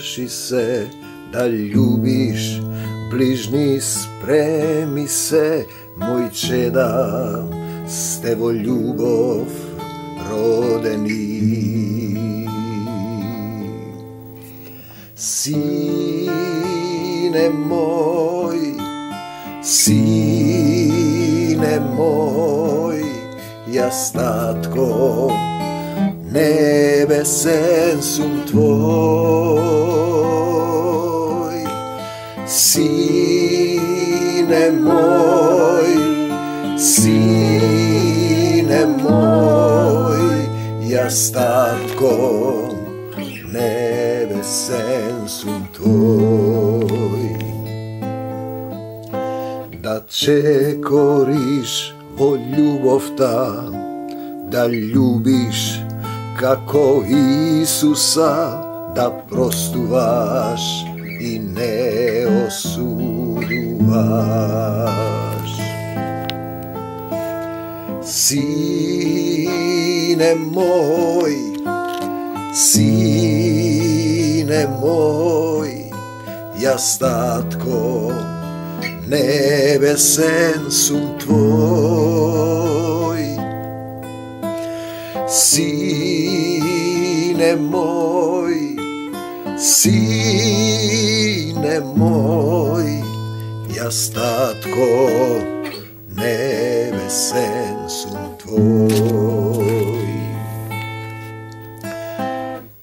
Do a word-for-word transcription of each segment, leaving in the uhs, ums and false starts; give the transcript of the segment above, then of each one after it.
Научи се да љубиш, ближни спреми се, мој чеда, сте во љубов родени. Сине мој, сине мој, јас татко, небесен сум твој. Сине мој, сине мој, јас татко, небесен сум твој. Да чекориш во љубовта, да љубиш како Исуса, да простуваш и не осудуваш. Сине мој, сине мој, јас татко, небесен сум твој. Сине мој, сине мој, јас татко, небесен сум твој.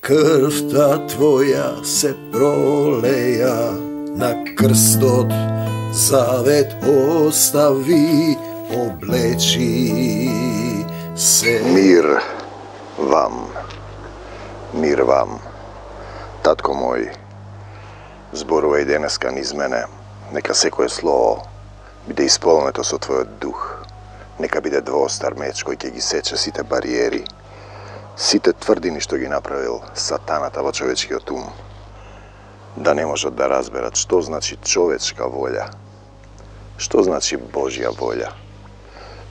Крвта твоја се пролеја на крстот, завет остави, облечи се. Мир вам, мир вам. Татко мој, зборувај денеска низ мене, нека секое слово биде исполнето со Твојот дух. Нека биде двоостар меч кој ќе ги сече сите бариери, сите тврдини што ги направил сатаната во човечкиот ум, да не можат да разберат што значи човечка волја, што значи Божја волја,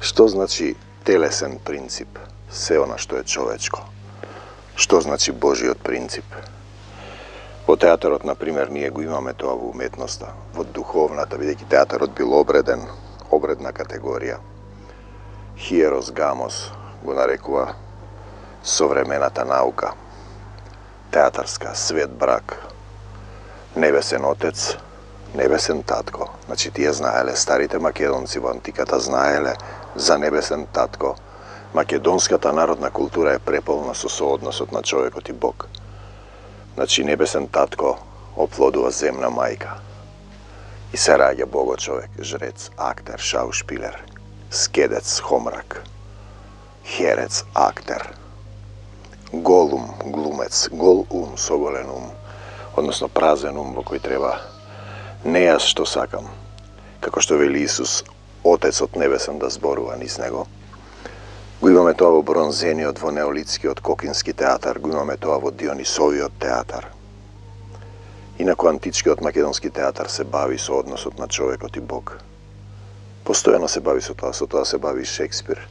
што значи телесен принцип, се она што е човечко, што значи Божиот принцип. Во театарот, например, ние го имаме тоа во уметноста, во духовната, бидејќи театарот бил обреден, обредна категорија. Хиерос гамос го нарекува современата наука, театарска, свет брак, небесен отец, небесен татко. Значи, тие знаеле, старите македонци во антиката знаеле за небесен татко. Македонската народна култура е преполна со соодносот на човекот и Бог. Значи, небесен татко оплодува земна мајка. И се раѓа бого човек, жрец, актер, шаушпилер, скедец, хомрак, херец, актер, голум, глумец, гол ум, соголен ум, односно празен ум во кој треба не јас што сакам, како што вели Исус, Отецот небесен да зборува низ него. Го имаме тоа во бронзениот, во неолитскиот кокински театар, го имаме тоа во Дионисовиот театар. Инако античкиот македонски театар се бави со односот на човекот и Бог. Постојано се бави со тоа, со тоа се бави Шекспир,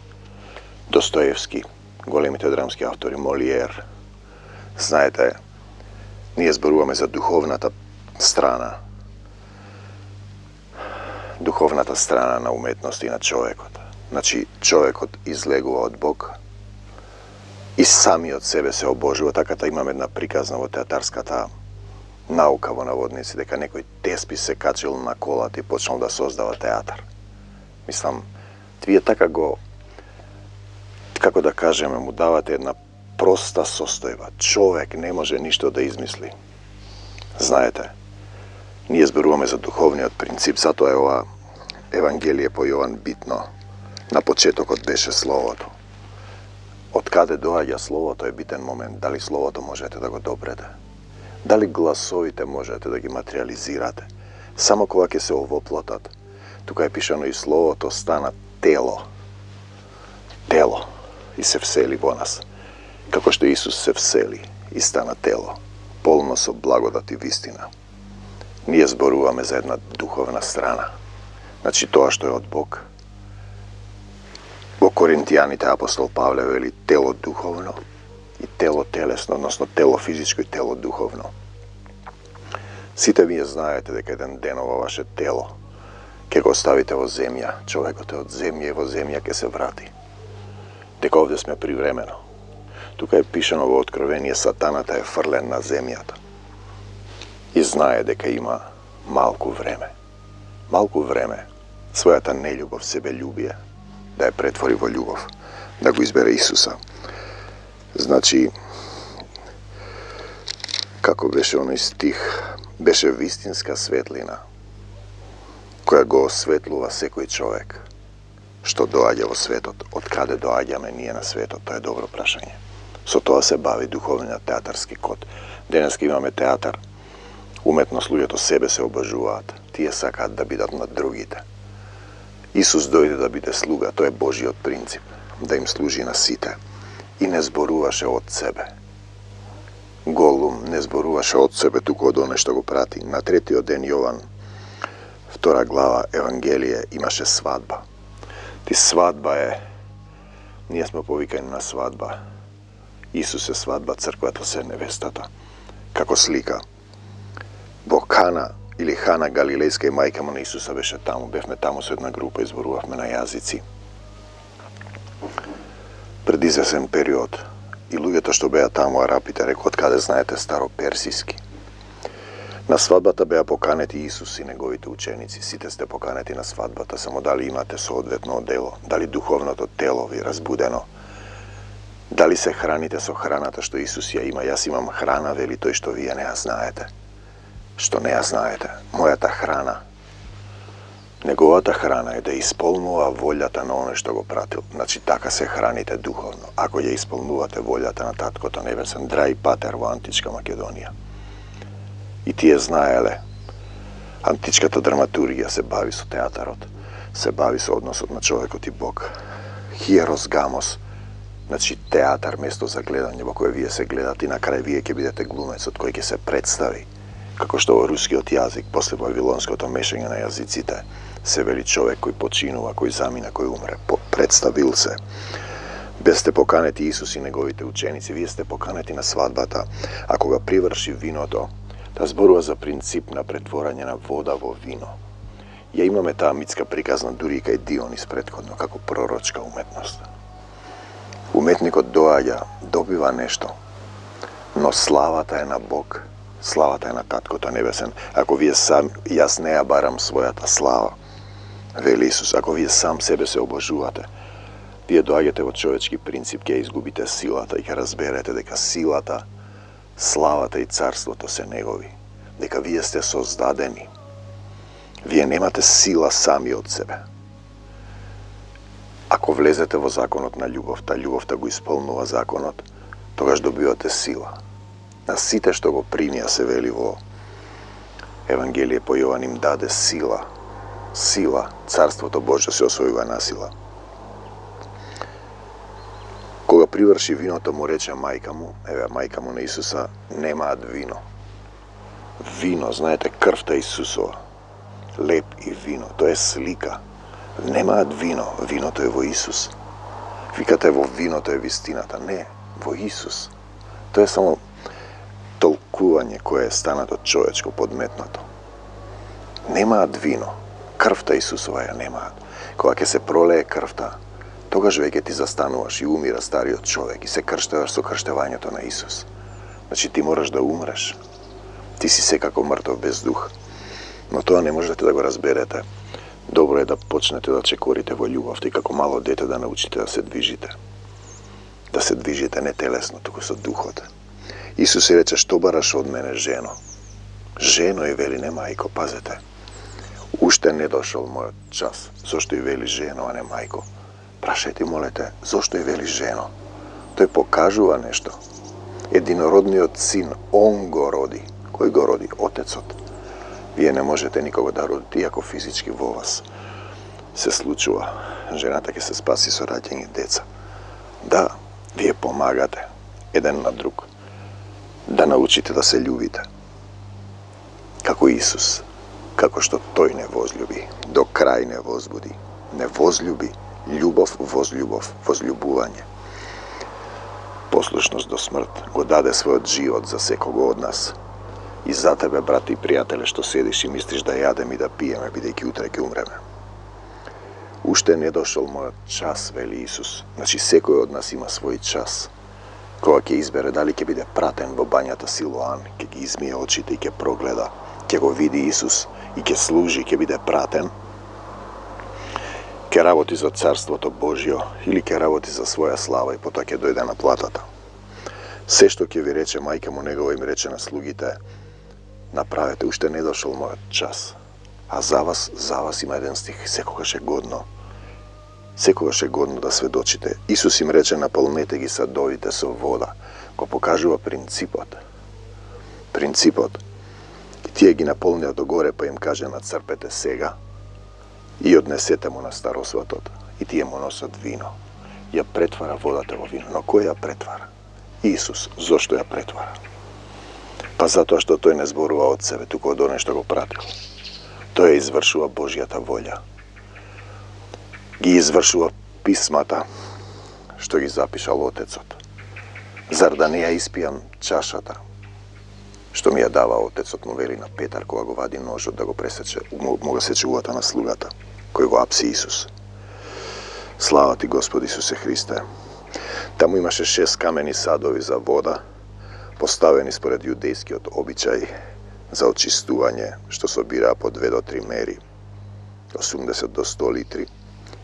Достоевски, големите драмски автори, Молиер. Знаете, ние зборуваме за духовната страна, духовната страна на уметноста и на човекот. Значи, човекот излегува од Бог и самиот себе се обожува. Таката имаме една приказна во театарската наука во наводници, дека некој теспи се качил на колата и почнал да создава театар. Мислам, вие така го, како да кажеме, му давате една проста состојба. Човек не може ништо да измисли. Знаете, ние зборуваме за духовниот принцип, затоа е ова Евангелие по Јован битно. На почетокот беше Словото. Од каде доаѓа Словото е битен момент. Дали Словото можете да го допрете? Дали гласовите можете да ги материализирате? Само кога ќе се овоплотат. Тука е пишано и Словото стана тело. Тело. И се всели во нас. Како што Исус се всели и стана тело. Полно со благодат и вистина. Ние зборуваме за една духовна страна. Значи тоа што е од Бог. Во Коринтијаните апостол Павле вели тело духовно и тело телесно, односно тело физичко и тело духовно. Сите вие знаете дека еден ден ова ваше тело ќе го оставите во земја, човекот е од земја и во земја ќе се врати. Дека овде сме привремено. Тука е пишано во Откровение, сатаната е фрлен на земјата. И знае дека има малку време. Малку време својата нељубов, себељубие, да ја претвори во љубов, да го избере Исуса. Значи, како беше оној стих, беше вистинска светлина, која го осветлува секој човек, што доаѓа во светот. Од каде доаѓаме ние на светот, тоа е добро прашање. Со тоа се бави духовниот театарски код. Денеска имаме театар, уметност, луѓето себе се обожуваат, тие сакаат да бидат над другите. Исус дојде да биде слуга, тоа е Божиот принцип, да им служи на сите. И не зборуваше од себе. Голум не зборуваше од себе, туку од оне што го прати. На третиот ден Јован, втора глава, Евангелие, имаше свадба. Ти свадба е, ние сме повикани на свадба. Исус е свадба, црквата се невестата. Како слика. Во Кана или Хана Галилејска и мајка му на Исуса беше таму. Бевме таму со една група и зборувавме на јазици. Пред извесен период и луѓето што беа таму, арапите, рекоа, од каде знаете староперсиски. На свадбата беа поканети Исус и неговите ученици. Сите сте поканети на свадбата, само дали имате соодветно одело, дали духовното тело ви разбудено, дали се храните со храната што Исус ја има. Јас имам храна, вели тој, што вие не ја знаете. Што не ја знаете. Мојата храна, неговата храна е да исполнува волјата на оној што го пратил. Значи, така се храните духовно. Ако ја исполнувате волјата на Таткото Небесен, драј Патер во Античка Македонија. И тие знаеле, античката драматургија се бави со театарот, се бави со односот на човекот и Бог. Хиерос гамос, значи театар место за гледање во кој вие се гледате и на крај вие ќе бидете глумецот кој ќе се представи. Како што во рускиот јазик, после вавилонското мешање на јазиците, се вели човек кој починува, кој замина, кој умре, представил се. Без сте поканети Исус и неговите ученици, вие сте поканети на свадбата, а кога приврши виното, да зборува за принцип на претворање на вода во вино. Ја имаме таа митска приказна дури и кај Дионис претходно, како пророчка уметност. Уметникот доаѓа, добива нешто, но славата е на Бог, славата е на Таткото Небесен. Ако вие сам, јас не ја барам својата слава, вели Исус, ако вие сам себе се обожувате, вие доаѓате во човечки принцип, ќе изгубите силата и ќе разберете дека силата, славата и царството се негови, дека вие сте создадени. Вие немате сила сами од себе. Ако влезете во законот на љубовта, љубовта го исполнува законот, тогаш добивате сила. На сите што го примија, се вели во Евангелие по Јован, им даде сила. Сила, царството Божјо се освојува на сила. Кога приврши виното, му рече мајка му, еве мајка му на Исуса, немаат вино. Вино, знаете, крвта Исусова, леп и вино, тоа е слика. Немаат вино, виното е во Исус. Викате во виното е вистината, не, во Исус. Тоа е само толкување кое е станато човечко подметнато. Немаат вино, крвта Исусова ја немаат. Кога ќе се пролее крвта, тогаш веќе ти застануваш и умира стариот човек и се крштеваш со крштевањето на Исус. Значи ти мораш да умреш. Ти си секако мртов без дух. Но тоа не можете да го разберете. Добро е да почнете да чекорите во љубовта и како мало дете да научите да се движите. Да се движите не телесно, туку со духот. Исус и рече, што бараш од мене, жено? Жено и вели, не мајко, пазете. Уште не дошол мојот час. Зошто и вели жено, а не мајко? Прашајте, молете, зошто и вели жено? Тој покажува нешто. Единородниот син, он го роди. Кој го роди? Отецот. Вие не можете никого да родите, иако физички во вас се случува. Жената ќе се спаси со раѓање деца. Да, вие помагате еден на друг. Да научите да се љубите. Како Исус, како што тој не возлюби, до крај не возбуди, не возлюби, љубов, возлюбов, возлюбување. Послушност до смрт, го даде својот живот за секого од нас. И за тебе, брате и пријателе, што седиш и мислиш да јадем и да пиеме, бидејќи утре ќе умреме. Уште не дошол мојот час, вели Исус. Значи, секој од нас има свој час. Кога ќе избере дали ќе биде пратен во бањата Силоан, ќе ги измие очите и ќе прогледа, ќе го види Исус и ќе служи, ќе биде пратен, ќе работи за Царството Божјо или ќе работи за своја слава и потоа ќе дојде на платата. Се што ќе ви рече мајка му негова им рече на слугите, направете, уште не дошол мојот час. А за вас, за вас има еден стих, секогаш е годно. Секогаш е годно да сведочите. Исус им рече, наполнете ги садовите со вода. Го покажува принципот. Принципот. И тие ги наполнија догоре, па им каже, нацрпете сега и однесете му на старосватот. И тие му носат вино. Ја претвара водата во вино. Но кој ја претвара? Исус. Зошто ја претвара? Па затоа што тој не зборува од себе, туку од оној што го пратил. Тој извршува Божјата волја. Ги извршува писмата што ги запишал Отецот. Зар да не ја испијам чашата што ми ја дава Отецот, му вели на Петар кога го вади ножот да го пресече, му го сече уата на слугата, кој го апси Исус. Слава ти, Господи Исусе Христе. Таму имаше шест камени садови за вода, поставени според јудејскиот обичај за очистување, што собираа по две до три мери, осумдесет до сто литри.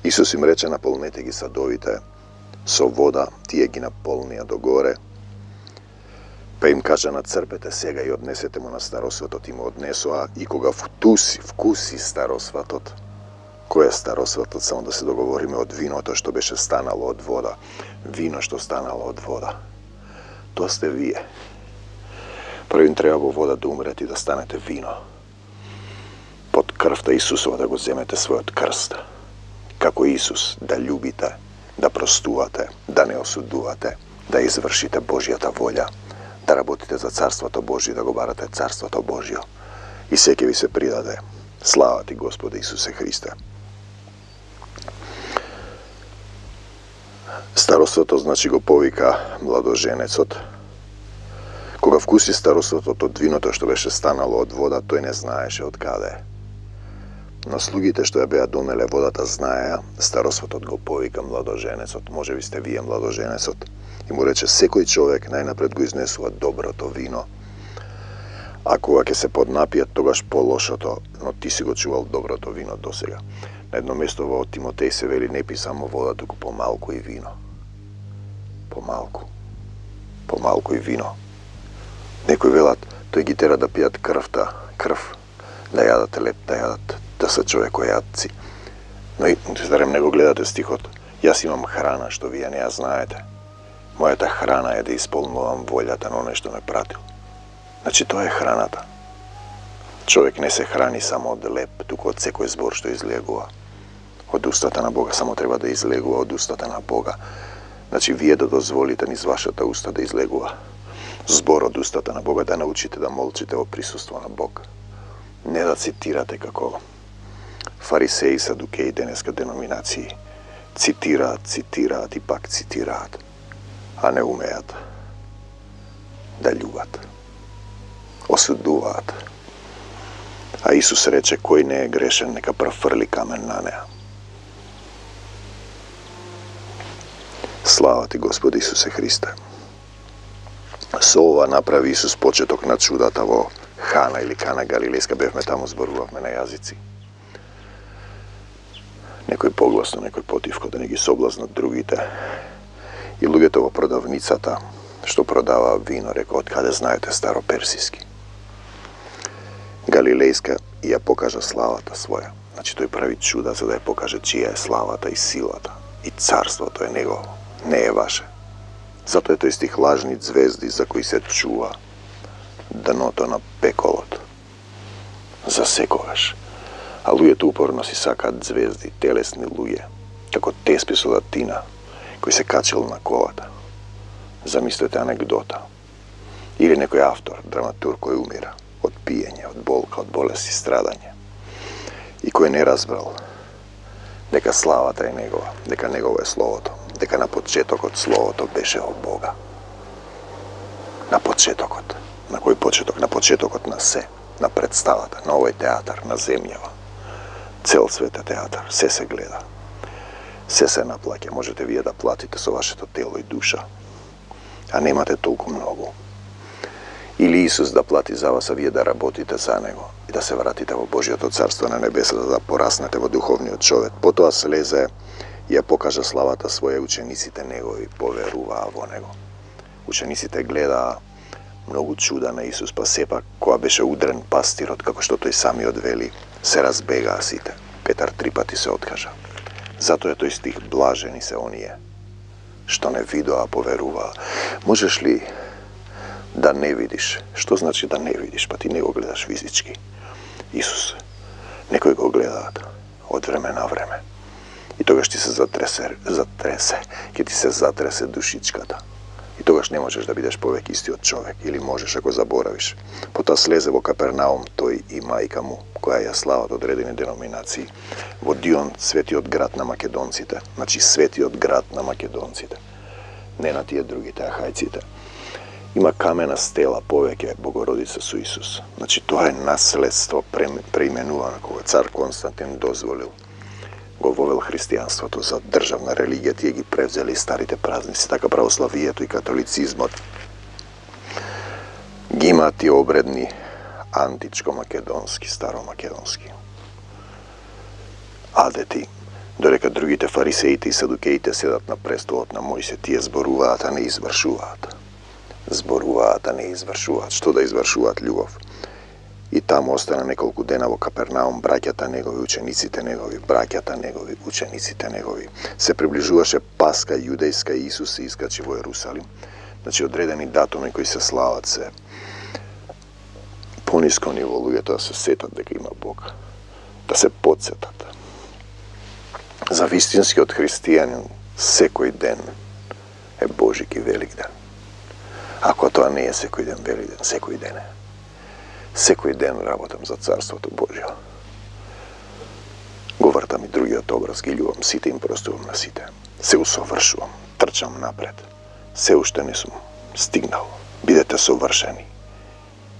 Исус им рече, наполнете ги садовите со вода, тие ги наполнија догоре, па им кажа, нацрпете сега и однесете му на старосватот, и му однесоа, и кога вкуси, вкуси старосватот. Кој е старосватот? Само да се договориме од виното што беше станало од вода. Вино што станало од вода. Тоа сте вие. Прво им треба во вода да умрете и да станете вино. Под крвта Исусова да го земете својот крст. Како Исус, да љубите, да простувате, да не осудувате, да извршите Божјата волја, да работите за Царството Божјо, да го барате Царството Божјо. И се ќе ви се придаде. Слава ти, Господи Исусе Христе. Староството, значи, го повика младоженецот. Кога вкуси староството од виното што беше станало од вода, тој не знаеше од каде. Но слугите што ја беа донеле водата знаеа, староствотот го повика младоженецот. Може би сте вие младоженецот. И му рече, секој човек најнапред го изнесува доброто вино, а кога ќе се поднапијат, тогаш по-лошото, но ти си го чувал доброто вино досега. На едно место во Тимотеј се вели, не пи само вода, туку помалку и вино. Помалку. Помалку и вино. Некои велат, тој ги тера да пијат крвта, крв, да јадат леп, да јадат, да се човекојадци. Но и, зарем не го гледате стихот, јас имам храна што вие не ја знаете. Мојата храна е да исполнувам волјата на оној што ме пратил. Значи, тоа е храната. Човек не се храни само од леп, туку од секој збор што излегува. Од устата на Бога само треба да излегува од устата на Бога. Значи, вие да дозволите низ вашата уста да излегува збор од устата на Бога, да научите да молчите во присуство на Бог. Не да цитирате како фарисеи, садукеи, денеска деноминации. Цитираат, цитираат и пак цитираат, а не умеат да љубат. Осудуваат. А Исус рече, кој не е грешен, нека прв фрли камен на неа. Слава ти, Господи Исусе Христе. Со ова направи Исус почеток на чудата во Хана или Кана Галилејска, бевме таму, зборувавме на јазици. Некој погласно, некој потивко, да не ги соблазнат другите. И луѓето во продавницата, што продаваа вино, рекоа, од каде знаете староперсиски? Галилејска и ја покажа славата своја. Значи, тој прави чуда за да ја покаже чија е славата и силата. И царството е негово, не е ваше. Затоа е тој стих лажни звезди за кои се чува дното на пеколот. За секогаш. А луѓето упорно си сакаат звезди, телесни луѓе, како Теспи со Датина, кој се качил на колата. Замислете анегдота. Или некој автор, драматург кој умира од пиење, од болка, од болест и страдање. И кој не разбрал дека славата е негова, дека негово е Словото, дека на почетокот Словото беше од Бога. На почетокот. На кој почеток? На почетокот на се, на представата, на овој театар, на земјава. Цел свет е театар, се се гледа. Се се наплаќа, можете вие да платите со вашето тело и душа, а немате толку многу. Или Исус да плати за вас, а вие да работите за Него и да се вратите во Божјото царство на небесата, да пораснете во духовниот човек. Потоа слезе и ја покажа славата своја, учениците Негови поверуваа во Него. Учениците гледаа многу чуда на Исус, па сепак, кога беше удрен пастирот, како што тој самиот вели, се разбегаа сите. Петар три пати се откажа. Затоа е тој стих, блажени се оние што не видоа, поверуваа. Можеш ли да не видиш? Што значи да не видиш? Па ти не го гледаш физички. Исус, некои го гледаат од време на време. И тогаш ти се затресе, затресе, ќе ти се затресе душичката. И тогаш не можеш да бидеш повеќе истиот човек, или можеш ако заборавиш. Потоа слезе во Капернаум тој и мајка му, која ја слават одредени деноминации, во Дион, светиот град на македонците, значи светиот град на македонците, не на тие другите ахајците. Има камена стела повеќе Богородица со Исус. Значи тоа е наследство преименувано кога цар Константин дозволил. Го вовел христијанството за државна религија, тие ги превзели старите празници, така православието и католицизмот ги имаат тие обредни античко-македонски, старо-македонски. Адети, додека другите фарисеите и садукеите седат на престолот на Мојсе, тие зборуваат, а не извршуваат. Зборуваат, а не извршуваат. Што да извршуваат? Љубов. И таму остана неколку дена во Капернаум, браќата негови, учениците негови, браќата негови, учениците негови. Се приближуваше Паска јудејска и Исус се искачи во Ерусалим. Значи одредени датуми кои се слават се пониско ниво, луѓето да се сетат дека има Бог, да се подсетат. За вистинскиот христијанин секој ден е Божики велик ден. Ако тоа не е секој ден велик ден, секој ден е. Секој ден работам за Царството Божјо. Го вртам и другиот образ, ги љубам сите, им простувам на сите. Се усовршувам, трчам напред. Се уште не сум стигнал. Бидете совршени,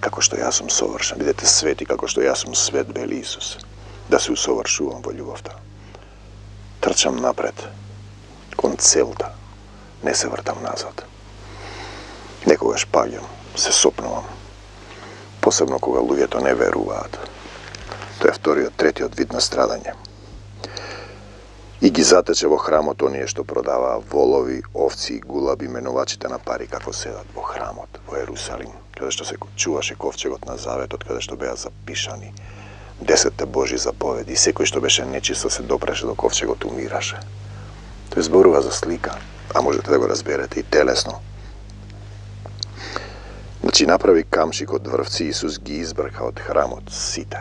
како што јас сум совршен. Бидете свети, како што јас сум свет, вели Исус. Да се усовршувам во љубовта. Трчам напред, кон целта. Не се вртам назад. Некогаш паѓам, се сопнувам. Посебно кога луѓето не веруваат. Тоа е вториот, третиот вид на страдање. И ги затече во храмот оние што продаваа волови, овци и гулаби, менувачите на пари, како седат во храмот во Ерусалим, каде што се чуваше ковчегот на заветот, каде што беа запишани десетте Божји заповеди. Секој што беше нечисто се допреше до ковчегот, умираше. Тој зборува за слика, а можете да го разберете и телесно. Значи направи камшик од врвци, Исус ги избрка од храмот сите.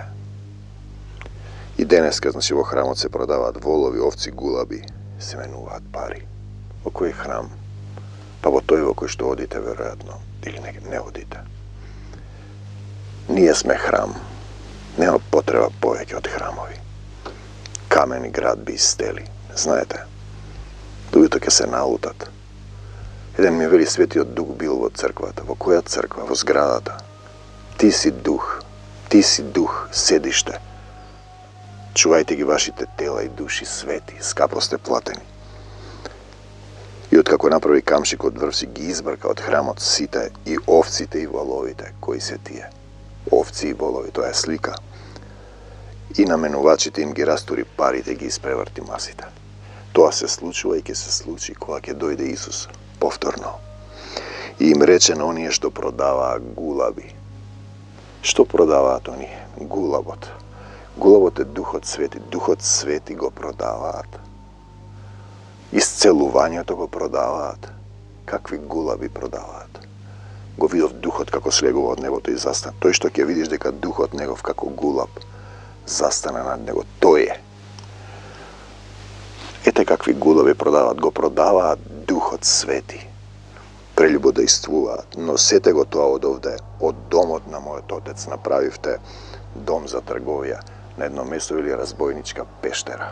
И денеска, значи, во храмот се продаваат волови, овци, гулаби, се менуваат пари. Во кој храм? Па во тој во кој што одите, веројатно, или не, не одите. Ние сме храм. Нема потреба повеќе од храмови. Камени град би истели. Знаете, луѓето ќе се налутат. Еден ми вели, Светиот Дух бил во црквата. Во која црква? Во зградата. Ти си дух. Ти си дух, седиште. Чувајте ги вашите тела и души свети, скапо сте платени. И откако направи камшик од врвци, ги избрка од храмот сите, и овците и воловите. Кои се тие? Овци и волови, тоа е слика. И на менувачите им ги растури парите, ги испреврти масите. Тоа се случува и ќе се случи кога ќе дојде Исус повторно. И им рече на оние што продаваа гулаби. Што продаваат оние? Гулабот. Гулабот е Духот Свети. Духот Свети го продаваат. Исцелувањето го продаваат. Какви гулаби продаваат? Го видов Духот како слегува од небото и застана. Тој што ќе видиш дека Духот негов како гулаб застана над него, тој е. Ете какви гулаби продаваат. Го продаваат Духот Свети. Прелюбодејствуваат. Носете го тоа од овде, од домот на мојот Отец. Направивте дом за трговија. На едно место или разбойничка пештера.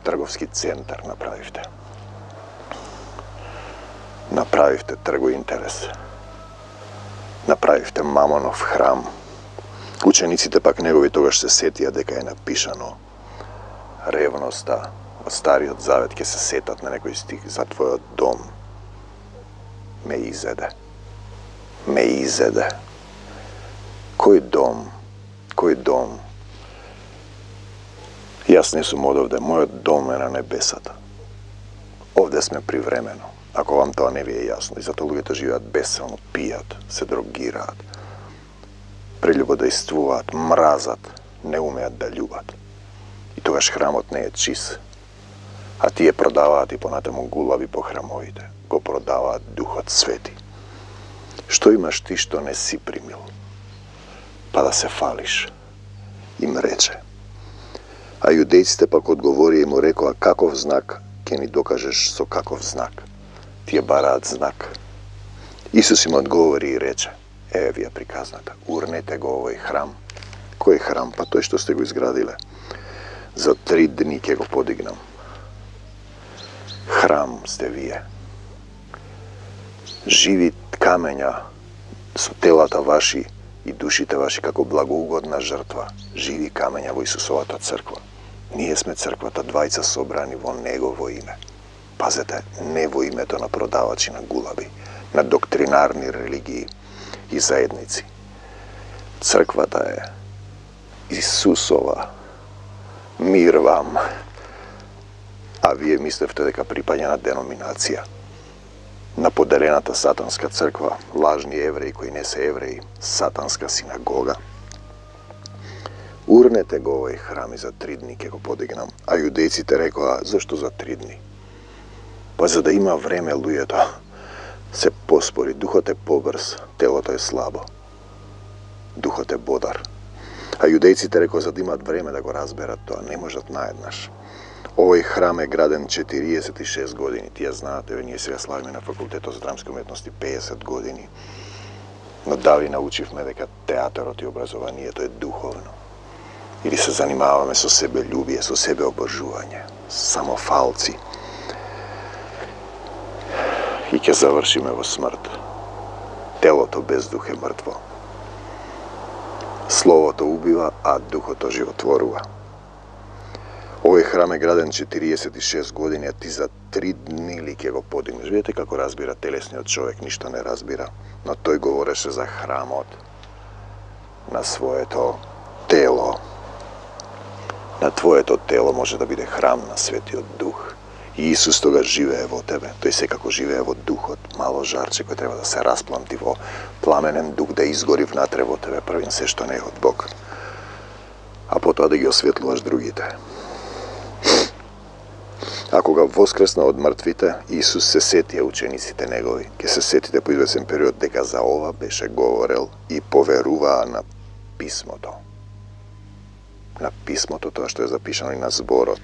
Трговски центар направивте. Направивте трго интерес. направивте Мамонов храм. Учениците пак негови тогаш се сетија дека е напишано: ревноста од Стариот Завет ќе се сетат на некој стих: за твојот дом ме изеде. Ме изеде. Кој дом? Кој дом? Јас не сум одовде, мојот дом е на небесата. Овде сме привремено, ако вам тоа не ви е јасно. И затоа луѓето живеат бесилно, пијат, се дрогираат, прелюбодејствуваат, мразат, не умеат да љубат. И тогаш храмот не е чист. А тие продаваат и понатаму гулави по храмовите. Го продаваат Духот Свети. Што имаш ти што не си примил? Па да се фалиш, им рече. А јудејците пак одговори и му рекоа: каков знак ќе ни докажеш со каков знак? Тие бараат знак. Исус им одговори и рече: еве ви е приказната, урнете го овој храм. Кој храм? Па тој што сте го изградиле. За три дни ќе го подигнам. Храм сте вие. Живи камења со телата ваши и душите ваши како благоугодна жртва. Живи камења во Исусовата црква. Ние сме црквата, двајца собрани во Негово име. Пазете, не во името на продавачи на гулаби, на доктринарни религии и заедници. Црквата е Исусова. Мир вам. А вие мислевте дека припаѓа на деноминација, на подарената сатанска црква, лажни евреи кои не се евреи, сатанска синагога. Урнете го овој храм и за три дни ќе го подигнам. А јудејците рекоа: зашто за три дни? Па за да има време луѓето се поспори, духот е побрз, телото е слабо. Духот е бодар. А јудејците рекоа: за да имат време да го разберат тоа, не можат наеднаш. Овој храм е граден четириесет и шест години. Тие знаат, еве ние сега славиме на факултетот за драмски уметности пеесет години. Но дали научивме дека театарот и образованието е духовно? Или се занимаваме со себељубие, со себеобожување, само фалци? И ќе завршиме во смрт. Телото без дух е мртво. Словото убива, а духото животворува. Овој храм е граден четириесет и шест години, а ти за три дни ли ќе го подигнеш? Видите како разбира телесниот човек, ништо не разбира. Но тој говореше за храмот на своето тело. На твоето тело може да биде храм на Светиот Дух. И Исус тогаш живее во тебе. Тој секако живее во Духот, мало жарче кој треба да се распламти во пламенен дух, да изгори внатре во тебе, првин се што не е од Бог. А потоа да ги осветлуваш другите. А кога воскресна од мртвите, Исус се сетија учениците негови. Ке се сетите по извесен период дека за ова беше говорел и поверуваа на писмото. На писмото, тоа што е запишано и на зборот.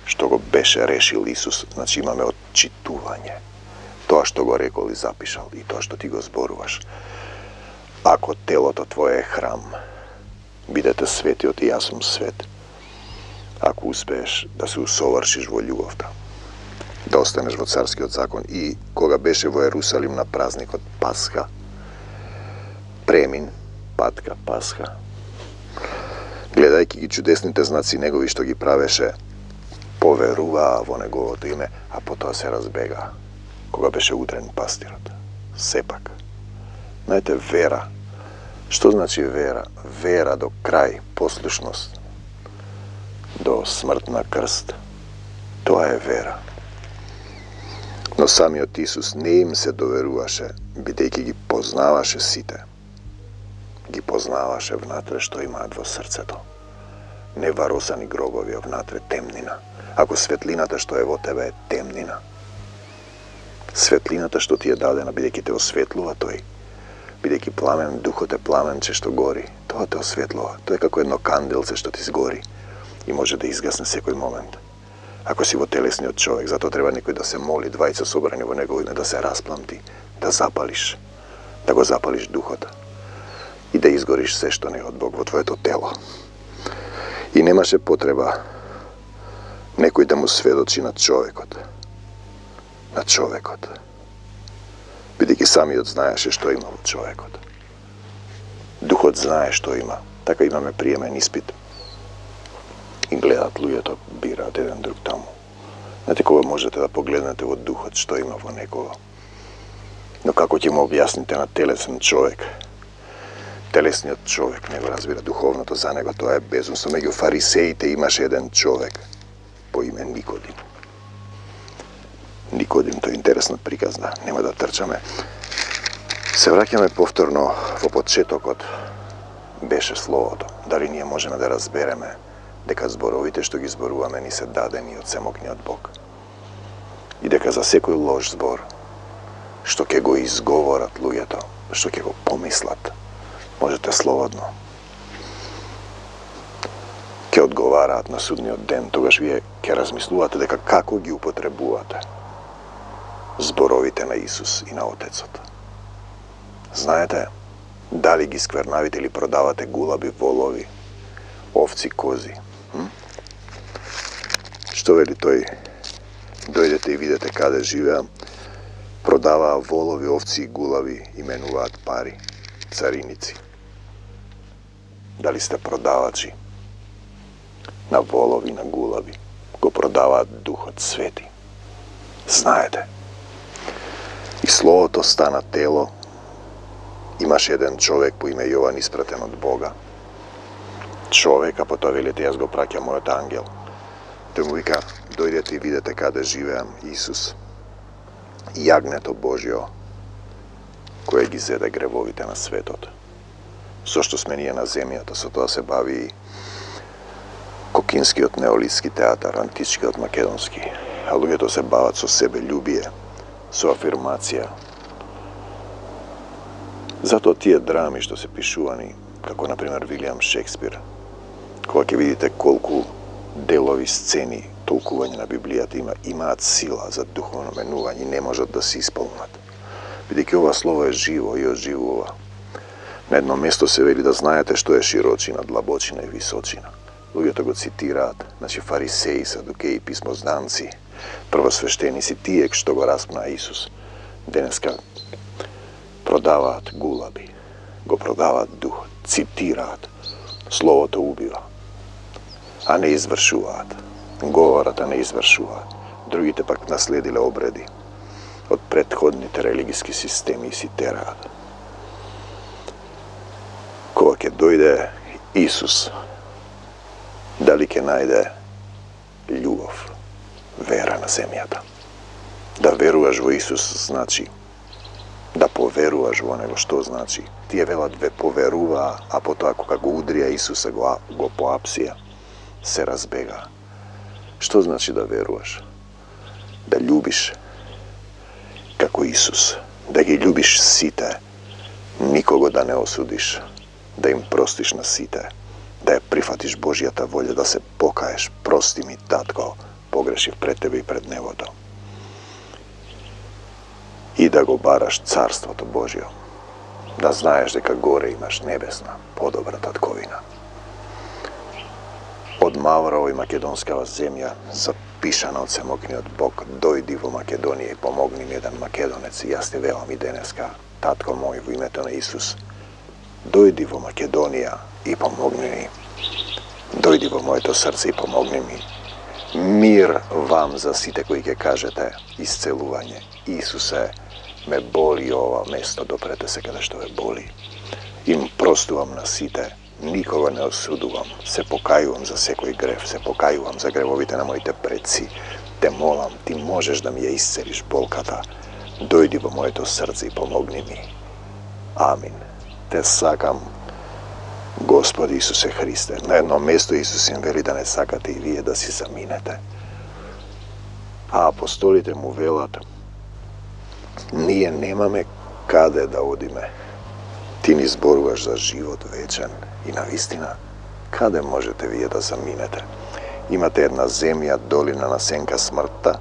Што го беше решил Исус, значи имаме отчитување. Тоа што го рекол и запишал и тоа што ти го зборуваш. Ако телото твое е храм, бидете свети од и јас сум свет. Ако успееш да се усовршиш во љубовта, да останеш во царскиот закон. И кога беше во Ерусалим на празникот Пасха, премин, патка, Пасха, гледајќи ги чудесните знаци негови што ги правеше, поверуваа во неговото име, а потоа се разбега кога беше удрен пастирот. Сепак, знаете, вера. Што значи вера? Вера до крај, послушност до смрт на крст. Тоа е вера. Но самиот Исус не им се доверуваше, бидејќи ги познаваше сите. Ги познаваше внатре што имаат во срцето. Не варосани гробови, а внатре темнина. Ако светлината што е во тебе е темнина, светлината што ти е дадена, бидејќи те осветлува тој, бидејќи пламен, духот е пламенче што гори, тоа те осветлува. Тоа е како едно канделце што ти сгори и може да изгасне секој момент. Ако си во телесниот човек, затоа треба некој да се моли, двајца собрани во негово име, да се распламти, да запалиш, да го запалиш духот и да изгориш се што не е од Бог во твоето тело. И немаше потреба некој да му сведочи на човекот. На човекот. бидејќи самиот знаеше што има во човекот. Духот знае што има. Така имаме приемен испит. И гледат луѓето, бираат еден друг таму. Знаете, кога можете да погледнете во духот што има во некого. Но како ќе му објасните на телесен човек? Телесниот човек не го разбира духовното за него, тоа е безумство. Меѓу фарисеите имаше еден човек по име Никодим. Никодим, тоа е интересна приказна, нема да трчаме. Се враќаме повторно во почетокот, беше Словото. Дали ние можеме да разбереме дека зборовите што ги зборуваме ни се дадени од семокниот Бог? И дека за секој лош збор, што ќе го изговорат луѓето, што ќе го помислат, можете слободно ќе одговараат на судниот ден, тогаш вие ќе размислувате дека како ги употребувате зборовите на Исус и на Отецот. Знаете, дали ги сквернавите или продавате гулаби, волови, овци, кози? Hm? Што вели тој? Дојдете и видете каде живеам. Продаваа волови, овци и гулави, именуваат пари, цариници. Дали сте продавачи на волови, на гулави? Го продаваат Духот Свети. Знаете. И Словото стана тело. Имаше еден човек по име Јован испратен од Бога. Човек, а потоа велите, јас го праќам мојот ангел. Тој му вика, дојдете и видете каде живеам, Исус. Јагнето Божјо, кое ги зеде гревовите на светот. Со што сме ние на земјата, со тоа се бави и Кокинскиот неолитски театар, античкиот македонски. А луѓето се бават со себе љубие, со афирмација. Затоа тие драми што се пишувани, како например Вилијам Шекспир, кога ќе видите колку делови, сцени, толкување на Библијата има, имаат сила за духовно менување и не можат да се исполнат. Бидејќи ова слово е живо и оживува. На едно место се вели да знаете што е широчина, длабочина и височина. Луѓето го цитираат, значи фарисеи, садукеи, писмозданци, првосвештеници, тие што го распна Исус. Денеска продаваат гулаби, го продаваат дух, цитираат, словото убива, а не извршуваат. Говорат, а не извршуваат. Другите пак наследиле обреди од претходните религиски системи и си тераат. Кога ќе дојде Исус, дали ќе најде љубов, вера на земјата? Да веруваш во Исус значи да поверуваш во Него. Што значи? Тие велат ве поверуваа, а потоа кога го удрија Исуса, го, го поапсија, се разбега. Што значи да веруваш? Да љубиш како Исус, да ги љубиш сите, никого да не осудиш, да им простиш на сите, да ја прифатиш Божјата волја, да се покаеш, прости ми, татко, погрешив пред тебе и пред небото. И да го бараш Царството Божјо, да знаеш дека горе имаш небесна, подобра татковина. Од Маврово и македонскава земја, запишана од семокниот Бог, дојди во Македонија и помогни ми еден македонец. И јас ти велам и денеска, татко мој, во името на Исус, дојди во Македонија и помогни ми. Дојди во моето срце и помогни ми. Мир вам за сите кои ќе кажете исцелување. Исусе, ме боли ова место, допрете се каде што ве боли. Им простувам на сите, никога не осудувам, се покајувам за секој грев, се покајувам за гревовите на моите предци. Те молам, ти можеш да ми ја исцелиш болката. Дојди во моето срце и помогни ми. Амин. Те сакам, Господи Исусе Христе. На едно место Исус им вели да не сакате и вие да си заминете. А апостолите му велат, ние немаме каде да одиме. Ти ни зборуваш за живот вечен и навистина, каде можете вие да заминете? Имате една земја, долина на сенка смртта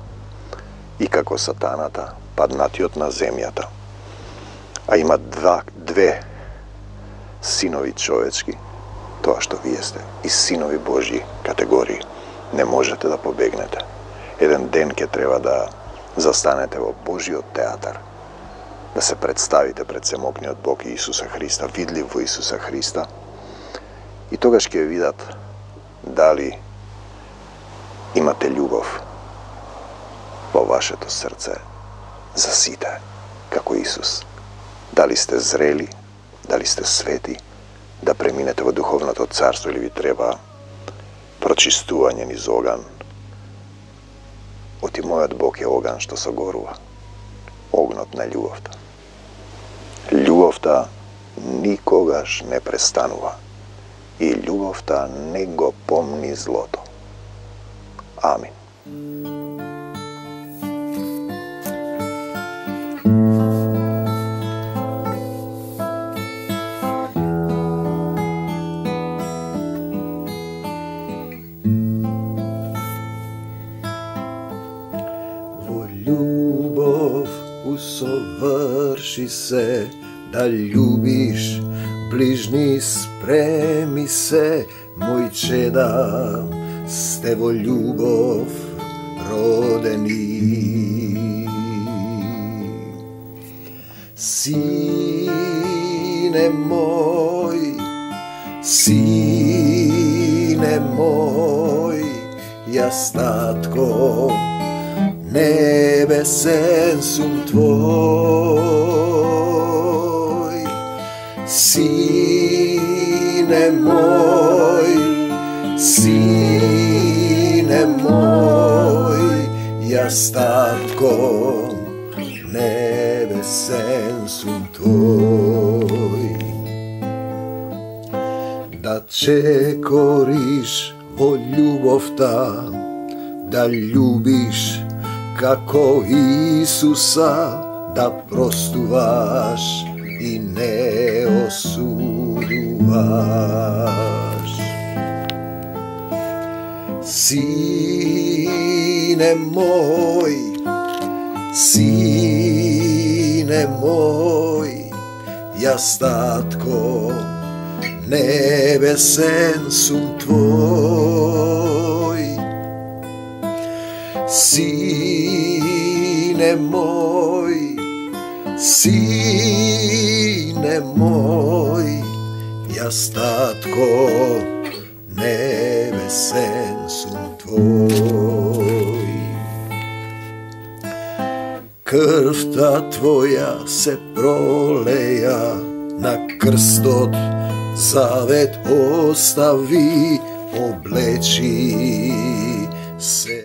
и како сатаната, паднатиот на земјата. А има два, две синови човечки, тоа што вие сте, и синови Божји категории. Не можете да побегнете. Еден ден ќе треба да застанете во Божјиот театар, да се представите пред семокниот Бог и Исуса Христа, видлив во Исуса Христа, и тогаш ќе видат дали имате љубов во вашето срце за сите, како Исус. Дали сте зрели, дали сте свети, да преминете во духовното царство или ви треба прочистување низ оган. Оти мојот Бог е оган што согорува, огнот на љубовта. Љубовта никогаш не престанува и љубовта не го помни злото. Амин. Љубов усоврши се, да љубиш ближни, спреми се, мој чеда, сте во љубов родени. Сине мој, сине мој, јас татко, небесен сум твој. Сине мој, сине мој, јас татко, небесен сум твој. Да чекориш во љубовта, да љубиш како Исуса, да простуваш и не осудуваш. Сине мој, сине мој, јас татко, небесен сум твој. Сине мој, сине мој, јас татко, небесен сум твој. Крвта твоја се пролеја, на крстот завет остави, облечи се